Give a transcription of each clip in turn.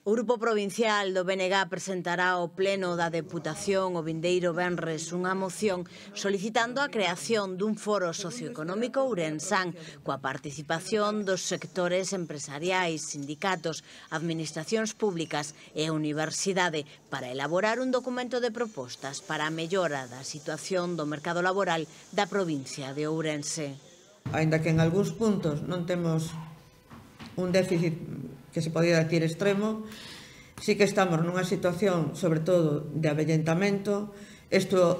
O Grupo Provincial do BNG presentará ao Pleno da Deputación o vindeiro venres unha moción solicitando a creación dun foro socioeconómico ourensán coa participación dos sectores empresariais, sindicatos, administracións públicas e universidade para elaborar un documento de propostas para a mellora da situación do mercado laboral da provincia de Ourense. Aínda que en algúns puntos non temos un déficit que se podía decir extremo, sí que estamos nunha situación, sobre todo, de avellentamento. Isto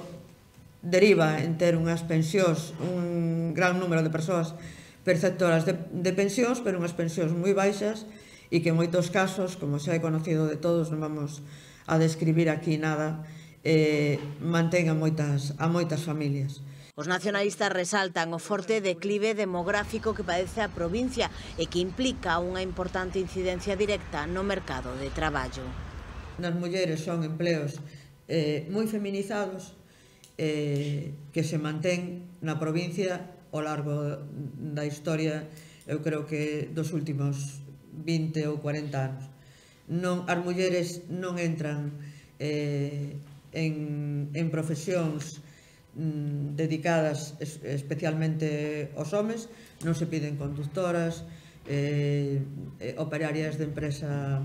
deriva en ter unhas pensións, un gran número de persoas perceptoras de pensións, pero unhas pensións moi baixas e que en moitos casos, como xa é conocido de todos, non vamos a describir aquí nada, mantén a moitas familias. Os nacionalistas resaltan o forte declive demográfico que padece a provincia e que implica unha importante incidencia directa no mercado de traballo. Nas mulleres son empleos moi feminizados que se mantén na provincia ao largo da historia, eu creo que dos últimos 20 ou 40 anos. As mulleres non entran en profesións dedicadas especialmente aos homes, non se piden conductoras, operarias de empresa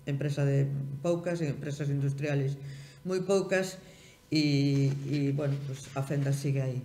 de poucas, empresas industriales moi poucas, e, bueno, a fenda sigue aí.